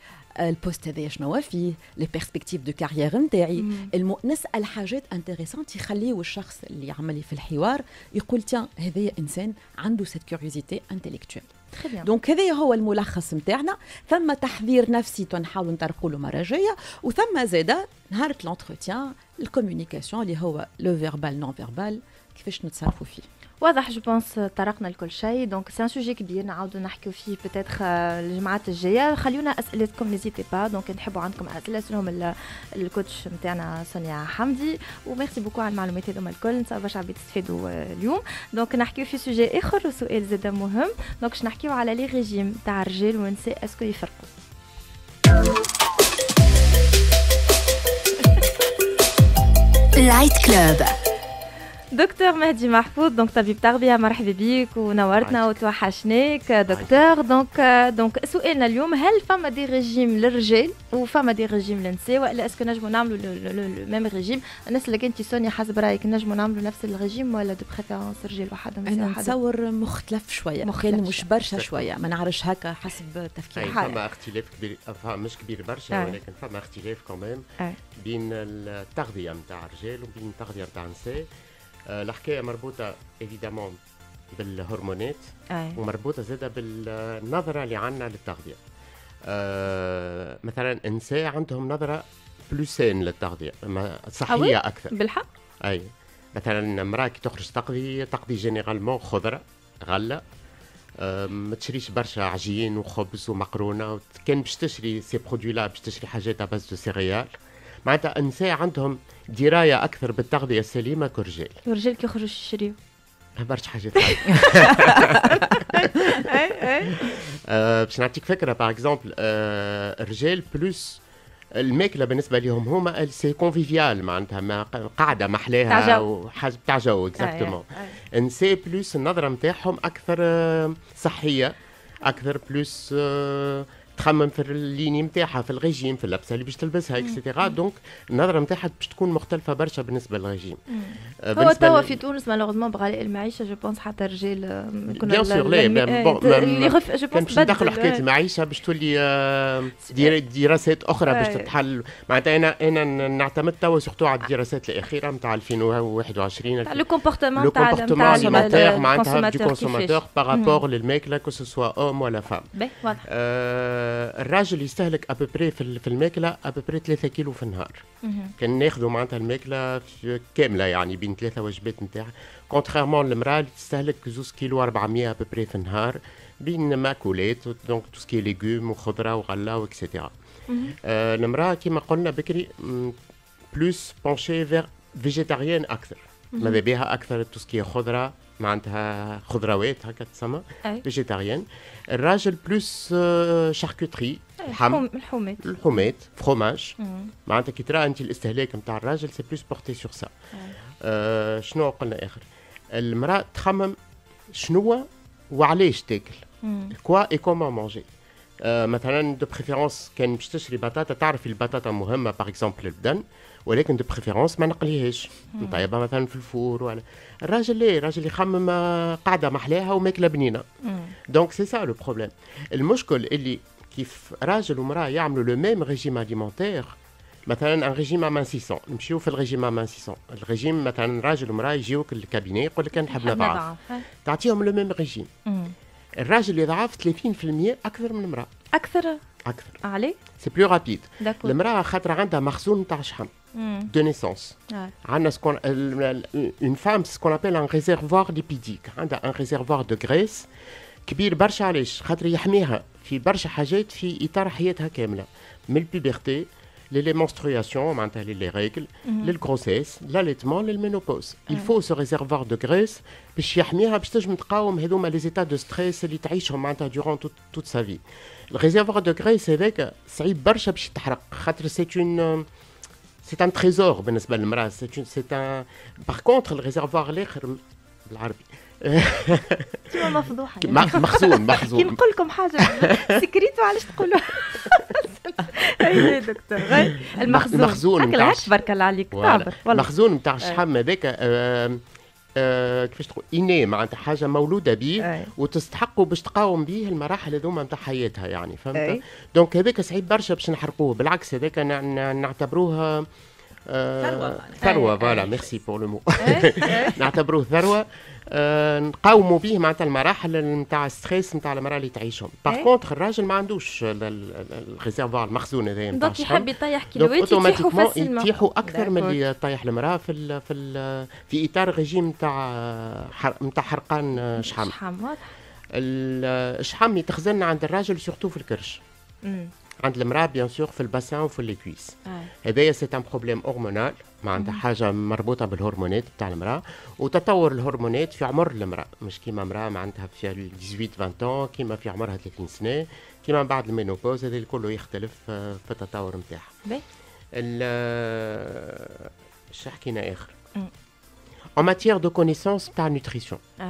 ال poste هذايا شنو فيه، les perspectives de carrière نتاعي، الم... نسال حاجات intéressantes يخليو الشخص اللي يعمل لي في الحوار يقول tiens هذايا انسان عنده cette curiosité intellectuelle. donc هذا هو الملخص نتاعنا. ثم تحضير نفسي نحاولوا نطرقوا له مرة جايه، وثم زاده نهار l'entretien ال communication اللي هو le verbal non verbal كيفاش نتصرفوا فيه. واضح je pense طرقنا لكل شيء. donc c'est un sujet كبير نعاودوا نحكيو فيه peut-être الجمعات الجاية. خليونا اسئلتكم، n'hésitez pas. donc نحبوا عندكم اسئلة اسالهم ال coach نتاعنا سونيا حمدي. و merci beaucoup على المعلومات هذوما الكل، ان شاء الله برشا عباد تستفادوا اليوم. donc نحكيو في sujet اخر وسؤال زاد مهم. donc باش نحكيو على les régimes تاع الرجال والنساء، est-ce que يفرقوا؟ Light Club. دكتور مهدي محفوظ، donc طبيب تغذية، مرحبا بك ونورتنا وتوحشناك دكتور. donc donc سؤالنا اليوم، هل فما des régimes للرجال وفما des régimes للنساء، والا est-ce que نجموا نعملوا le même régime؟ الناس اللي كنتي سونيا حسب رايك نجموا نعملوا نفس الريجيم ولا de préférence رجال وحدهم نساء وحدهم؟ انا نتصور مختلف شوية، كان مش برشا شوية، ما نعرفش هكا حسب تفكير. فما اختلاف كبير، مش كبير برشا ولكن فما اختلاف quand même بين التغذية نتاع الرجال وبين التغذية نتاع النساء. الحكاية مربوطة évidemment بالهرمونات ومربوطه زاده بالنظرة اللي عندنا للتغذيه. أه مثلا النساء عندهم نظره plus saine للتغذيه، صحية اكثر. بالحق؟ اي مثلا امراة كي تخرج تقضي تقضي généralement خضرة غله، أه ما تشريش برشا عجين وخبز ومقرونه. كان باش تشري ces produits-là باش تشري حاجات à base de céréales. معناتها النساء عندهم دراية اكثر بالتغذية السليمة كرجال. الرجال كي يخرجوا يشريو برشا حاجات. اي اي باش نعطيك فكرة، par exemple الرجال plus الماكلة بالنسبة لهم هما c'est convivial، معناتها قاعدة محلاها وحاجه تاع جو exactement. النساء plus النظرة نتاعهم اكثر صحية اكثر، plus تخمم في ال ligne نتاعها، في الريجيم، في اللبسه اللي باش تلبسها et cetera. donc النظرة نتاعها باش تكون مختلفة برشا بالنسبة للريجيم. هو توا في تونس malheureusement بغلاء المعيشة je pense حتى الرجال bien sûr لا bon اللي je pense باش ندخلوا حكاية المعيشة باش تولي دراسات اخرى باش تتحل. معناتها انا انا نعتمد توا surtout على الدراسات الاخيرة نتاع ألفين وواحد وعشرين le comportement تاع le comportement alimentaire معناتها du consommateur par rapport للماكله que ce soit homme ولا femme. الراجل يستهلك à peu près في الماكلة à peu près ثلاثة كيلو في النهار. كان ناخذوا معناتها الماكلة كاملة يعني بين ثلاثة وجبات نتاعها، contrairement للمراة اللي تستهلك زوز كيلو أربعمية à peu près في النهار بين ماكولات، donc tout ce qui est légumes وخضره وغله و et cetera. آه المراة كيما قلنا بكري plus penchée vers végétarienne اكثر، ماذا بها اكثر tout ce qui est خضرة معناتها خضروات هكا تسمى végétarienne. الراجل plus charcuterie، لحم، الحومات الحومات فروماج. معناتها كي ترى انت الاستهلاك نتاع الراجل c'est plus porté sur ça. شنو قلنا اخر؟ المراة تخمم شنو وعلاش تاكل، quoi et comment manger. مثلا de préférence كان باش تشري بطاطا تعرف البطاطا مهمة par exemple للبدن، ولكن de préférence ما نقليهاش، نطيبها مثلا في ال four. ولا الراجل لا، الراجل يخمم قاعدة محلاها وماكله بنينه. donc c'est ça le problème. المشكل اللي كيف راجل ومراة يعملوا le même régime alimentaire، مثلا un régime amincissant، نمشيو في ال régime amincissant، ال régime مثلا راجل ومراة يجيوك لل cabinet يقول لك نحب نضعف، تعطيهم le même régime. الراجل يضعف ثلاثين بالمية اكثر من المراة. اكثر اكثر عليه c'est plus rapide. المراة خاطر عندها مخزون تاع شحم de naissance. عندنا ce qu'on une femme ce qu'on appelle un réservoir lipidique، عندها un réservoir de graisse كبير برشا. علاش؟ خاطر يحميها في برشا حاجات في اطار حياتها كاملة، من ال puberté les menstruations معناتها les règles، لل grossesse، l'allaitement، لل ménopause. il faut ce réservoir de graisse باش يحميها، باش تنجم تقاوم هذوما les états de stress اللي تعيشهم معناتها durant toute sa vie. ال réservoir de graisse هذاك صعيب برشا باش يتحرق، خاطر c'est une c'est un trésor بالنسبة للمراه. c'est c'est un par contre ال réservoir الاخر بالعربي كيما مفضوحه. مخزون مخزون. كي نقول لكم حاجة secret وعلاش تقولوا؟ اي دكتور، المخزون. المخزون نتاع، تبارك الله عليك. تعبر المخزون نتاع الشحم هذاك آه كيفاش تقول inné، معناتها حاجة مولودة به وتستحقوا باش تقاوم به المراحل هذوما نتاع حياتها يعني، فهمت؟ donc هذاك صعيب برشا باش نحرقوه، بالعكس هذاك نعتبروه ثروه. ثروه، voilà، merci pour le mot. نعتبروه ثروة آه نقاوموا به معناتها المراحل نتاع stress نتاع المراة اللي تعيشهم. par contre الراجل ما عندوش ال réservoir، المخزون هذايا. نتاع donc يحب يطيح كيلوات يطيحوا. يطيحوا اكثر من اللي يطيح المراة في ال في ال في اطار ريجيم نتاع نتاع حرقان شحم. شحم، واضح. الشحم يتخزن عند الراجل surtout في الكرش، عند المراة bien sûr في ال bassin وفي les cuisses. هذايا c'est un problème hormonal، معناتها حاجة مربوطة بالهرمونات بتاع المراة وتطور الهرمونات في عمر المراه، مش كيما امراة معناتها في ثمنطاش عشرين كيما في عمرها ثلاثين سنه، كيما بعد ال ménopause، هذا الكل يختلف في التطور نتاعها. اش حكينا اخر؟ en matière de connaissances تاع nutrition،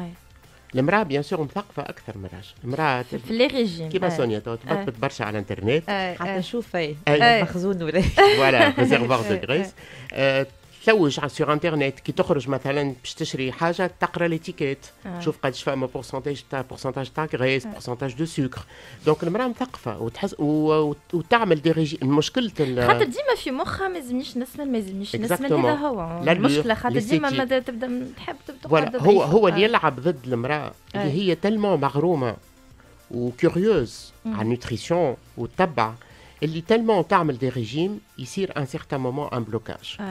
المراة bien sûr مثقفة اكثر من الراجل. المراة في les régimes. كيما سونيا تبطبط برشا على الانترنت. حتى نشوف مخزون ولا voilà، réservoir de graisse. تلوج sur internet، كي تخرج مثلا باش تشري حاجة تقرا l'étiquette، تشوف قداش فما pourcentage تاع pourcentage تاع graisse، pourcentage de sucre. donc المراة مثقفة وتحس وتعمل des régimes. مشكلة خاطر ديما في مخها ما يلزمنيش نسمن، ما يلزمنيش نسمن، هذا هو المشكله، خاطر ديما ما تبدا تحب تبدا. هو هو اللي يلعب ضد المراة اللي هي tellement مغرومه و curieuse على ال nutrition وتتبع، اللي tellement تعمل des régimes يصير un certain moment un blocage.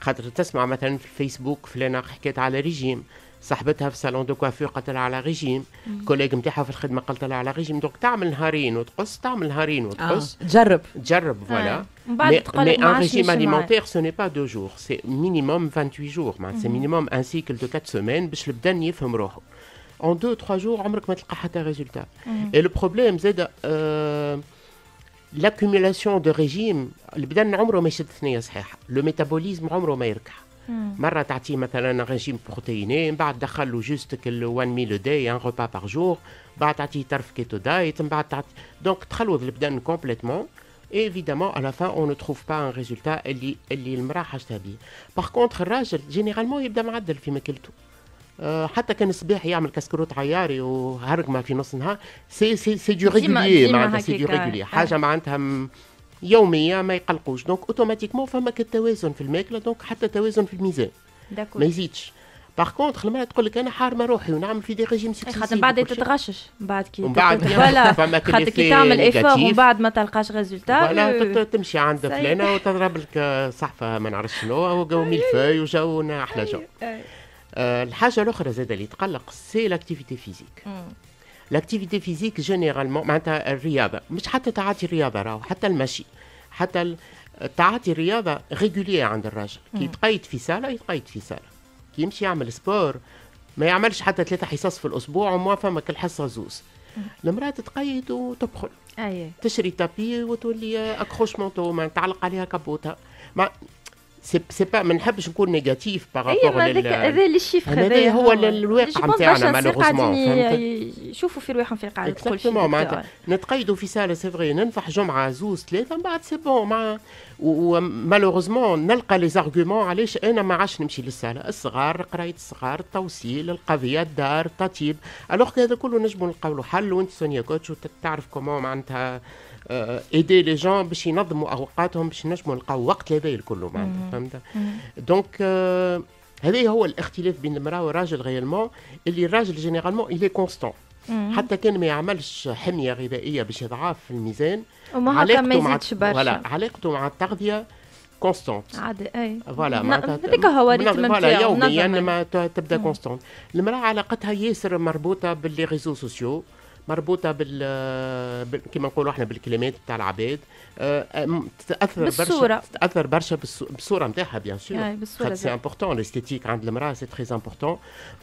خاطر تسمع مثلا في الفيسبوك فلانه حكيت على ريجيم، صاحبتها في salon de coiffure قالت لها على régime، collègue نتاعها في الخدمة قالت لها على régime، donc تعمل نهارين وتقص، تعمل نهارين وتقص. آه. تجرب. تجرب، voilà. mais mais un régime alimentaire ce n'est pas deux jours، c'est minimum vingt-huit jours، معناتها c'est minimum un cycle de quatre semaines باش البدن يفهم روحه. en deux trois jours عمرك ما تلقى حتى résultat. et le problème زاد l'accumulation de régimes، البدن عمره ما يشد ثنيه صحيحه، le métabolisme عمره ما يركح. مرة تعطيه مثلا régime protéiné، من بعد دخل له juste كل one meal a day، un repas par jour، بعد تعطيه طرف keto diet، من بعد تعطي، donc تخلوض البدن complètement. évidemment à la fin on ne trouve pas un résultat اللي اللي المراة حاجتها بيه. par contre الراجل généralement يبدا معدل في ماكلته، أه حتى كان الصباح يعمل كسكروت عياري وهرقمه في نص النهار، c'est c'est c'est du régulier، معناتها c'est du régulier، حاجة معناتها يومية ما يقلقوش. donc automatiquement فما التوازن في الماكله، donc حتى توازن في الميزان ما يزيدش. par contre المراة تقول لك انا حارمه روحي ونعمل في des régimes successifs. خاطر بعد تتغشش من بعد كي ومن بعد voilà، خاطر كي تعمل effort ومن بعد ما تلقاش résultat. voilà، تمشي عند فلانه وتضرب لك صحفه ما نعرفش شنو وجو ميلفاي وجو احلى جو. آه الحاجة الاخرى زاد اللي تقلق c'est l'activité physique. l'activité physique généralement معناتها الرياضه، مش حتى تعاطي الرياضة راهو، حتى المشي، حتى تعاطي الرياضة régulier عند الراجل كي يتقيد في salle يتقيد في salle، كي يمشي يعمل sport ما يعملش حتى ثلاثة حصص في الاسبوع وما فما كل حصة زوز. المراة تتقيد وتبخل، أيه. تشري tapis وتولي accroche-manteau ما تعلق عليها كابوتها. ما c'est c'est pas، ما نحبش نكون négatif par rapport لل هذا les chiffres. هذا هو الواقع نتاعنا malheureusement. يشوفوا في رواحهم في القاعده. تقول معناتها نتقيدوا في salle، c'est vrai ننفح جمعه زوز ثلاثه، من بعد c'est bon. مع و malheureusement نلقى les arguments علاش انا ما عادش نمشي لل salle: الصغار، قرايه الصغار، التوصيل، القضيه، الدار، التطيب، alors هذا كله نجموا نلقاو له حل. وانت سونيا coach وتعرف comment معناتها aider les gens باش ينظموا اوقاتهم باش نجموا نلقاو وقت لهذا الكل معناتها، فهمت؟ donc هذا هو الاختلاف بين المراة والراجل réellement، اللي الراجل généralement il est constant، حتى كان ما يعملش حمية غذائية باش يضعف في الميزان. علاقته ما يزيدش برشا. علاقته مع التغذية constante. عادي، اي. voilà معناتها هذاك هو rythme. voilà، يوميا ما تبدا constante. المراة علاقتها ياسر مربوطة ب les réseaux sociaux. مربوطة بال, بال... كما نقولوا احنا بالكلمات بتاع العباد، أه تتاثر بالصورة. برشا، تتاثر برشا بالصورة نتاعها bien sûr. بالصورة c'est important l'esthétique عند المراة، c'est très important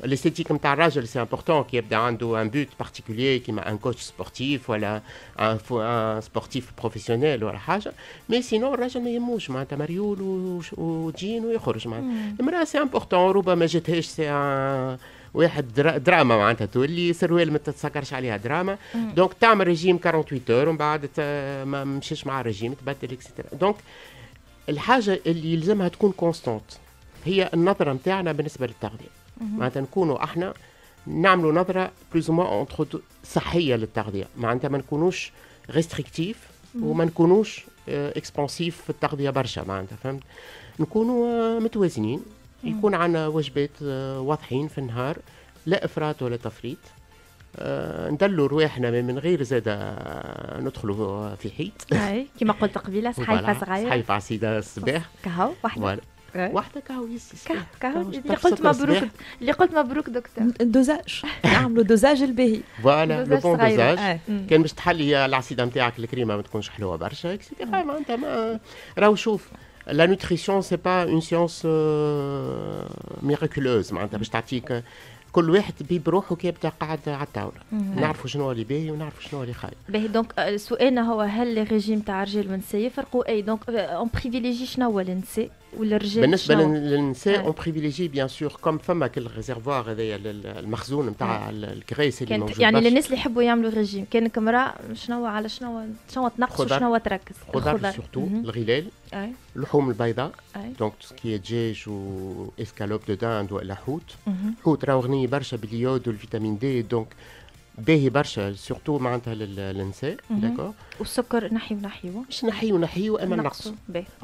l'esthétique نتاع الراجل، c'est important كي يبدا عنده un but particulier كيما un coach sportif ولا un sportif professionnel ولا حاجه. mais sinon الراجل ما يهموش، معناتها مريول وجين ويخرج. معناتها المراة c'est important، ربما جاتهاش c'est واحد دراما، معناتها تولي سروال ما تتسكرش عليها دراما. donc تعمل ريجيم ثمانية وأربعين heures ومن بعد ما مشيش مع الريجيم تبدل et cetera. donc الحاجة اللي يلزمها تكون constante هي النظرة نتاعنا بالنسبة للتغذيه، معناتها نكونوا احنا نعملوا نظره plus ou moins صحية للتغذيه، معناتها ما نكونوش restrictifs وما نكونوش expansifs في التغذية برشا، معناتها فهمت، نكونوا متوازنين، يكون عندنا وجبات آه، واضحين في النهار، لا افراط ولا تفريط، آه ندلوا رواحنا من غير زاد ندخلوا في حيط. اي، كما قلت قبيله، صحيفة صغيره. صحيفة عصيده الصباح. كهو واحده. واحدة كهو. كهو. اللي قلت مبروك، اللي قلت مبروك دكتور. dosage، نعملوا dosage الباهي. voilà le bon dosage. كان باش تحلي العصيده نتاعك، الكريمة ما تكونش حلوة برشا et cetera. معناتها ما راهو شوف، la nutrition c'est pas une science miraculeuse، معناتها باش تعطيك كل واحد طبيب روحه كي يبدا قاعد على الطاوله. نعرفوا شنو اللي باهي ونعرفوا شنو اللي خايب. باهي، donc سؤالنا هو هل les régimes تاع الرجال والنساء يفرقوا؟ اي، donc on privilégie شنو هو للنساء ولا الرجال؟ بالنسبة للنساء on privilégie bien sûr comme فما كل réservoir هذايا المخزون نتاع ال graisse اللي موجود. يعني للناس اللي يحبوا يعملوا ريجيم، كانك امراة شنو على شنو شنو تنقص وشنو تركز؟ خضر surtout، الغلال، اللحوم البيضاء، donc tout ce qui est دجاج و escalope de dinde ولا حوت. حوت راهو غني برشا بال iode وال vitamine D، donc باهي برشا surtout معناتها للنساء، d'accord. والسكر نحيو نحيو؟ مش نحيو نحيو، اما نقص.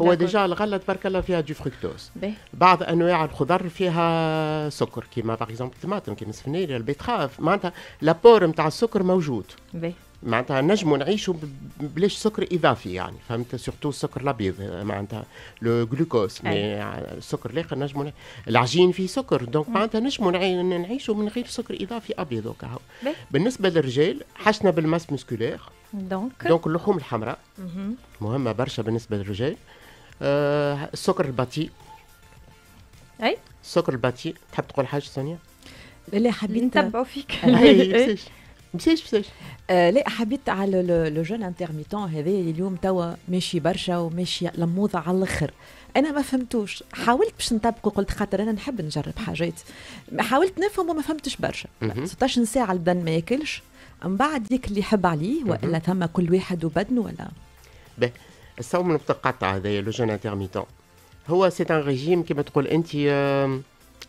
هو déjà الغلة تبارك الله فيها du fructose، بعض انواع الخضر فيها سكر كيما par exemple الطماطم، كيما السفناريا، ال betterave، معناتها l'apport نتاع السكر موجود. باهي. معناتها نجموا نعيشوا بلاش سكر اضافي يعني فهمت، surtout السكر الابيض معناتها le glucose، mais السكر الاخر نجموا، العجين فيه سكر، donc معناتها نجموا نعيشوا من غير سكر اضافي ابيض وكهو. بالنسبة للرجال حاجتنا بال masse musculaire. donc donc اللحوم الحمراء مهمة برشا بالنسبة للرجال. آه السكر البطيء. اي. السكر البطيء. تحب تقول حاجة سونيا؟ لا، حبيت نتبعوا فيك. مسيش مسيش. آه لا، حبيت على le jeûne intermittent هذا اليوم توا ماشي برشا وماشي لموضة على الاخر. انا ما فهمتوش، حاولت باش نطبقه، قلت خاطر انا نحب نجرب حاجات، حاولت نفهم وما فهمتش برشا. ستاش ساعة البدن ما ياكلش، من بعد ياكل اللي يحب عليه، والا ثم كل واحد وبدنه ولا؟ باهي، الصوم المتقطع هذايا le jeûne intermittent هو c'est un régime كما تقول انت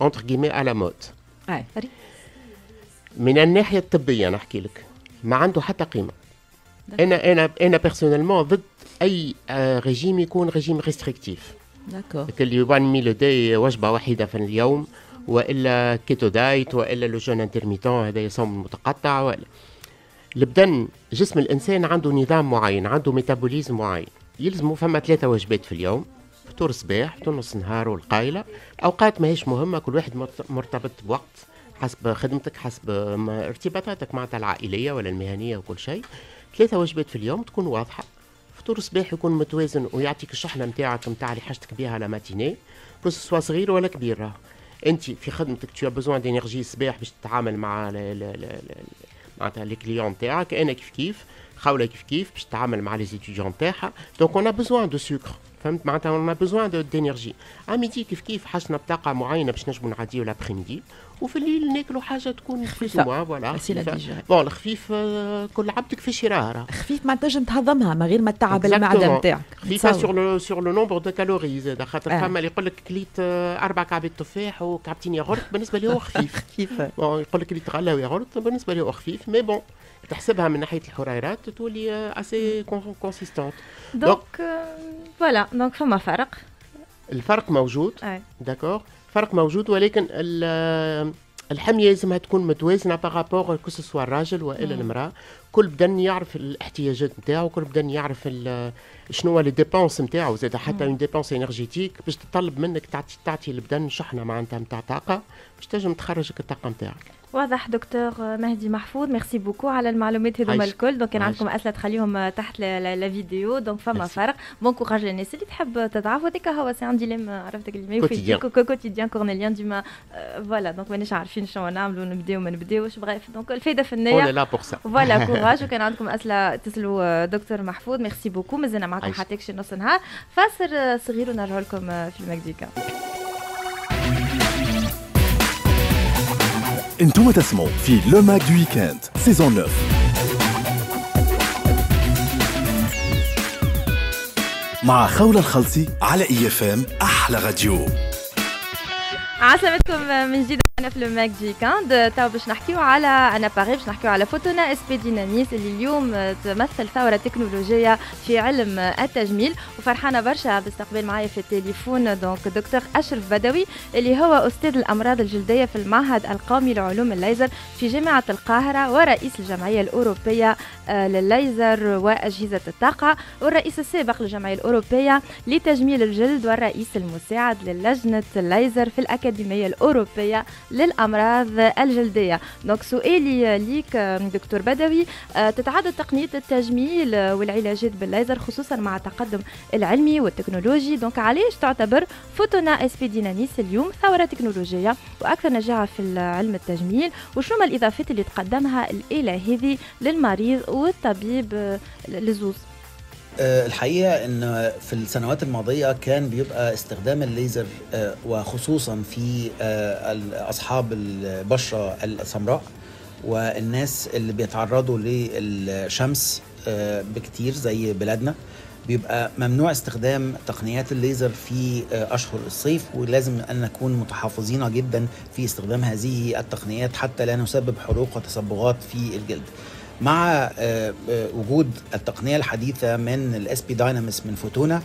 entre guillemets à la mode. من الناحية الطبية نحكي لك ما عنده حتى قيمه. انا انا انا personnellement ضد اي ريجيم يكون régime restrictif. d'accord. اللي one meal a day، وجبة واحدة في اليوم، والا keto diet، والا le jeûne intermittent هذا يصوم المتقطع. ولا البدن، جسم الانسان عنده نظام معين، عنده métabolisme معين، يلزموا فما ثلاثة وجبات في اليوم: فطور الصباح، فطور نص النهار، والقايله. اوقات ماهيش مهمه، كل واحد مرتبط بوقت حسب خدمتك، حسب ارتباطاتك معناتها العائلية ولا المهنية وكل شيء. ثلاثة وجبات في اليوم تكون واضحه، فطور الصباح يكون متوازن ويعطيك الشحنة نتاعك نتاع اللي حاجتك بها la matinée، que ce soit صغير ولا كبير. راه انت في خدمتك tu as besoin d'énergie الصباح باش تتعامل مع معناتها les clients تاعك، انا كيف كيف، خوله كيف كيف باش تتعامل مع les étudiants تاعها، donc on a besoin de sucre، فهمت، معناتها on a besoin d'énergie. à midi كيف كيف حاجتنا بطاقة معينة باش نجموا نعديو l'après-midi، وفي الليل ناكلوا حاجة تكون خفيفه، voilà. bon، الخفيف كل عبد كيفاش يراه. خفيف ما تنجم تهضمها من غير ما تعب المعدة نتاعك. خفيفة sur le sur le nombre de calories زاد، خاطر آه. فما اللي يقول لك كليت اربع كعبات تفاح وكعبتين ياغورت، بالنسبة لي هو خفيف. خفيف. bon، يقول لك كليت غله وياغورت، بالنسبة لي هو خفيف، mais bon تحسبها من ناحية الحريرات تولي assez consistante. donc voilà، donc فما فرق. الفرق موجود، d'accord، فرق موجود، ولكن الحمية لازمها تكون متوازنة par rapport que ce soit الراجل والا المراة. كل بدن يعرف الاحتياجات نتاعو، كل بدن يعرف شنو هو les dépenses نتاعو زاد، حتى une dépense énergétique باش تطلب منك تعطي تعطي البدن شحنه معناتها نتاع طاقة باش تنجم تخرجك الطاقة نتاعك. واضح دكتور مهدي محفوظ، merci beaucoup على المعلومات هذوما الكل. donc كان عندكم اسئلة تخليهم تحت la vidéo. donc فما فرق، bon courage للناس اللي تحب تضعف، وهذاك هو c'est un dilemme، عرفتك اللي ما quotidien cornélien ديما. voilà، donc مانيش عارفين شنو نعملوا، نبداو ما نبداوش، bref. donc الفايدة في النية. on est là pour ça. voilà، courage، وكان عندكم اسئلة تسالوا دكتور محفوظ. merci beaucoup، مازلنا معكم حتى نص نهار، فاصل صغير ونرجع لكم في ال Mag du Week-end. انتم تسمعوا في le Mag du Week-end saison تسعة. مع خولة الخلصي على IFM احلى راديو. عسلامتكم من جديد، انا في le Mag du Week-end. تو باش نحكيو على un appareil، باش نحكيو على Fotona SP Dynamis اللي اليوم تمثل ثورة تكنولوجية في علم التجميل، وفرحانه برشا باستقبال معايا في التليفون donc دكتور اشرف بدوي اللي هو استاذ الامراض الجلدية في المعهد القومي لعلوم الليزر في جامعه القاهرة، ورئيس الجمعية الاوروبية للليزر واجهزة الطاقة، والرئيس السابق للجمعية الاوروبية لتجميل الجلد، والرئيس المساعد للجنة الليزر في الاكاديمية الاوروبية للأمراض الجلدية. donc سؤالي ليك دكتور بدوي، تتعدد تقنية التجميل والعلاجات بالليزر خصوصا مع التقدم العلمي والتكنولوجي، donc علاش تعتبر Fotona SP Dynamis اليوم ثورة تكنولوجية وأكثر نجاعة في علم التجميل، وشنو ما الإضافات اللي تقدمها الآلة هذه للمريض والطبيب للزوز؟ الحقيقة أن في السنوات الماضية كان بيبقى استخدام الليزر وخصوصا في أصحاب البشرة السمراء والناس اللي بيتعرضوا للشمس بكتير زي بلادنا، بيبقى ممنوع استخدام تقنيات الليزر في أشهر الصيف، ولازم أن نكون متحفظين جدا في استخدام هذه التقنيات حتى لا نسبب حروق وتصبغات في الجلد. مع وجود التقنية الحديثة من ال SP Dynamis من فوتونا،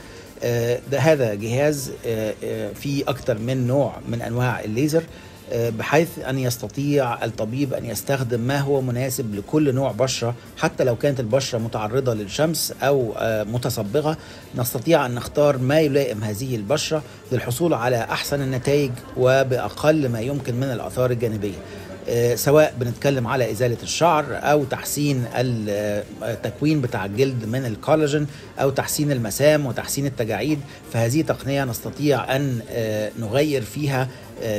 ده هذا جهاز فيه أكثر من نوع من أنواع الليزر، بحيث أن يستطيع الطبيب أن يستخدم ما هو مناسب لكل نوع بشرة، حتى لو كانت البشرة متعرضة للشمس أو متصبغة، نستطيع أن نختار ما يلائم هذه البشرة للحصول على أحسن النتائج وبأقل ما يمكن من الآثار الجانبية، سواء بنتكلم على إزالة الشعر أو تحسين التكوين بتاع الجلد من الكولاجين أو تحسين المسام وتحسين التجاعيد. فهذه تقنية نستطيع أن نغير فيها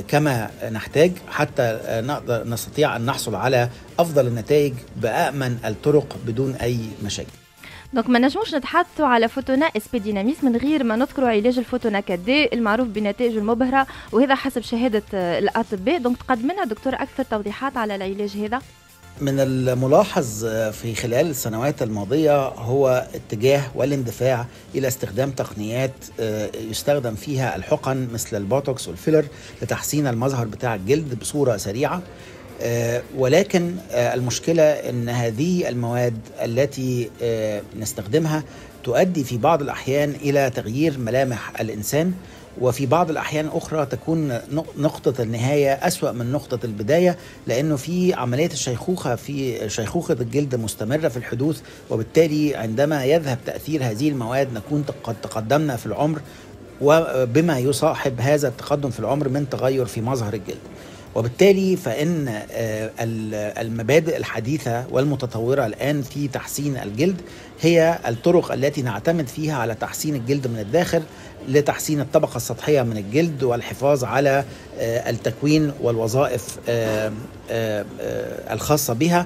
كما نحتاج حتى نقدر نستطيع أن نحصل على أفضل النتائج بأأمن الطرق بدون أي مشاكل. donc ما نجموش نتحدثوا على Fotona SP Dynamis من غير ما نذكروا علاج ال Fotona quatre D المعروف بنتائجه المبهره، وهذا حسب شهادة الاطباء. donc تقدم لنا دكتور اكثر توضيحات على العلاج هذا. من الملاحظ في خلال السنوات الماضية هو اتجاه والاندفاع إلى استخدام تقنيات يستخدم فيها الحقن مثل البوتوكس والفيلر لتحسين المظهر بتاع الجلد بصورة سريعة، ولكن المشكلة أن هذه المواد التي نستخدمها تؤدي في بعض الأحيان إلى تغيير ملامح الإنسان، وفي بعض الأحيان أخرى تكون نقطة النهاية أسوأ من نقطة البداية، لأنه في عملية الشيخوخة في شيخوخة الجلد مستمرة في الحدوث، وبالتالي عندما يذهب تأثير هذه المواد نكون قد تقدمنا في العمر، وبما يصاحب هذا التقدم في العمر من تغير في مظهر الجلد. وبالتالي فإن المبادئ الحديثة والمتطورة الآن في تحسين الجلد هي الطرق التي نعتمد فيها على تحسين الجلد من الداخل لتحسين الطبقة السطحية من الجلد والحفاظ على التكوين والوظائف الخاصة بها،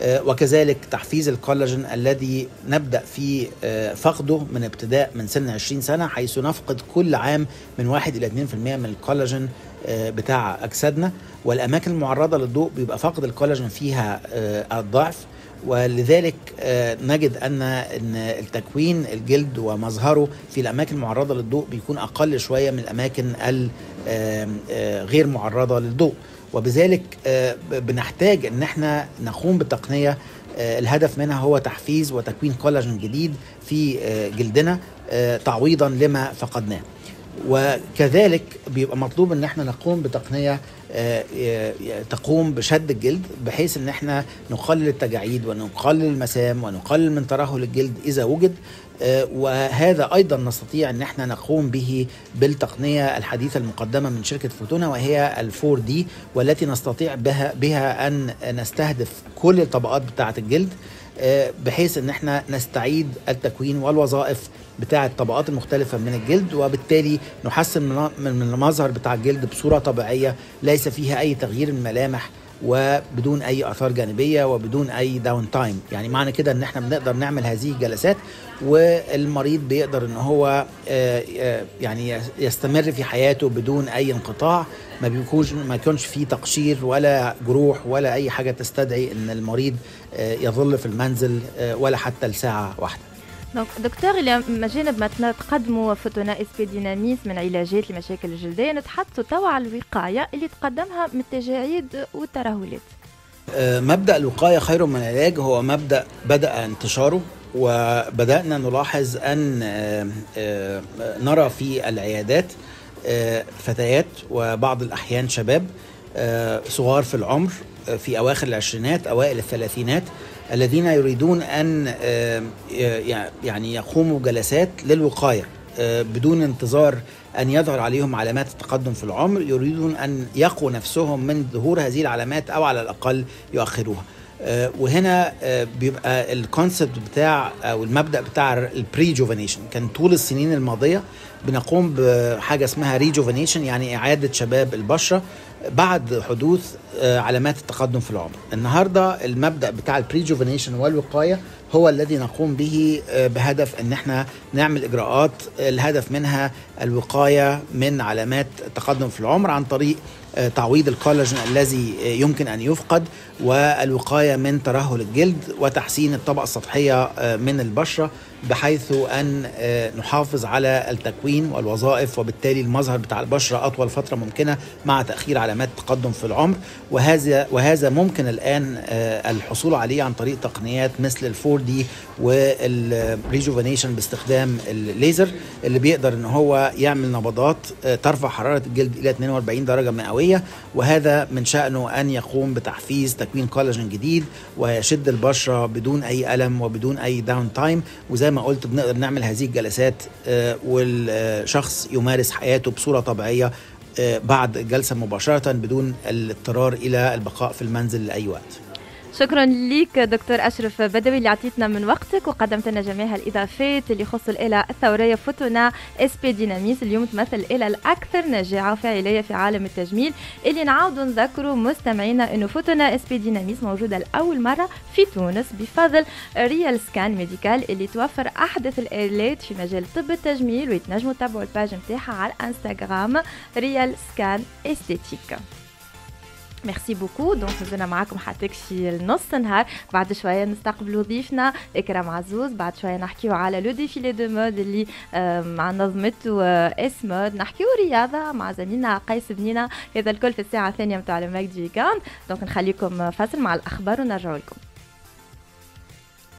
وكذلك تحفيز الكولاجين الذي نبدأ في فقده من ابتداء من سن عشرين سنة، حيث نفقد كل عام من واحد إلى اثنين بالمئة من الكولاجين بتاع أجسادنا، والأماكن المعرضة للضوء بيبقى فقد الكولاجين فيها الضعف، ولذلك نجد أن التكوين الجلد ومظهره في الأماكن المعرضة للضوء بيكون أقل شوية من الأماكن الغير معرضة للضوء، وبذلك بنحتاج ان احنا نقوم بتقنية الهدف منها هو تحفيز وتكوين كولاجين جديد في جلدنا تعويضا لما فقدناه. وكذلك بيبقى مطلوب ان احنا نقوم بتقنية تقوم بشد الجلد، بحيث ان احنا نقلل التجاعيد ونقلل المسام ونقلل من ترهل الجلد اذا وجد. وهذا ايضا نستطيع ان احنا نقوم به بالتقنيه الحديثة المقدمة من شركة فوتونا، وهي ال four D، والتي نستطيع بها بها ان نستهدف كل الطبقات بتاعه الجلد، بحيث ان احنا نستعيد التكوين والوظائف بتاعه الطبقات المختلفة من الجلد، وبالتالي نحسن من المظهر بتاع الجلد بصورة طبيعية ليس فيها اي تغيير الملامح وبدون اي اثار جانبيه وبدون اي down time. يعني معنى كده ان احنا بنقدر نعمل هذه الجلسات والمريض بيقدر ان هو يعني يستمر في حياته بدون اي انقطاع، ما بيكونش ما يكونش فيه تقشير ولا جروح ولا اي حاجة تستدعي ان المريض يظل في المنزل ولا حتى لساعة واحدة. donc دكتور، الى جانب ما تقدموا فوتونا SP Dynamis من علاجات لمشاكل الجلدية، نتحدثوا توا على الوقاية اللي تقدمها من التجاعيد والترهلات. مبدا الوقاية خير من العلاج هو مبدا بدا انتشاره، وبدانا نلاحظ ان نرى في العيادات فتيات وبعض الاحيان شباب صغار في العمر في اواخر العشرينات اوائل الثلاثينات الذين يريدون أن يعني يقوموا بجلسات للوقاية بدون انتظار أن يظهر عليهم علامات التقدم في العمر، يريدون أن يقوا نفسهم من ظهور هذه العلامات أو على الأقل يؤخروها. وهنا بيبقى ال concept بتاع أو المبدأ بتاع ال prejuvenation. كان طول السنين الماضية بنقوم بحاجة اسمها rejuvenation، يعني إعادة شباب البشرة بعد حدوث علامات التقدم في العمر. النهارده المبدأ بتاع ال prejuvenation والوقاية هو الذي نقوم به بهدف ان احنا نعمل اجراءات الهدف منها الوقاية من علامات التقدم في العمر عن طريق تعويض الكولاجين الذي يمكن ان يفقد، والوقاية من ترهل الجلد، وتحسين الطبقة السطحية من البشرة بحيث ان نحافظ على التكوين والوظائف، وبالتالي المظهر بتاع البشرة اطول فترة ممكنة مع تاخير علامات التقدم في العمر. وهذا وهذا ممكن الان الحصول عليه عن طريق تقنيات مثل ال four D وال rejuvenation باستخدام الليزر، اللي بيقدر ان هو يعمل نبضات ترفع حرارة الجلد الى اثنين وأربعين درجه مئوية، وهذا من شأنه ان يقوم بتحفيز تكوين كولاجين جديد ويشد البشرة بدون اي الم وبدون اي down time. وزي ما قلت بنقدر نعمل هذه الجلسات والشخص يمارس حياته بصورة طبيعية بعد الجلسة مباشرة بدون الاضطرار الى البقاء في المنزل لاي وقت. شكرا لك دكتور أشرف بدوي اللي عطيتنا من وقتك وقدمت لنا جميع الإضافات اللي يخص الآلة الثورية فوتونا SP Dynamis، اليوم تمثل الآلة الأكثر نجاعة وفاعلية في عالم التجميل. اللي نعاودوا نذكروا مستمعينا أنه فوتونا SP Dynamis موجودة لأول مرة في تونس بفضل Real Scan Medical اللي توفر أحدث الآلات في مجال طب التجميل، ويتنجموا تتابعوا ال page نتاعها على الانستغرام Real Scan Esthétique. merci beaucoup. donc مازلنا معاكم حتى شي نص نهار، بعد شوية نستقبلوا ضيفنا اكرام عزوز، بعد شوية نحكيو على le défilé de mode اللي مع نظمته S Mode، نحكيو رياضة مع زميلنا قيس بنينه، هذا الكل في الساعة الثانية نتاع le mag du week-end. donc نخليكم فاصل مع الاخبار ونرجعوا لكم.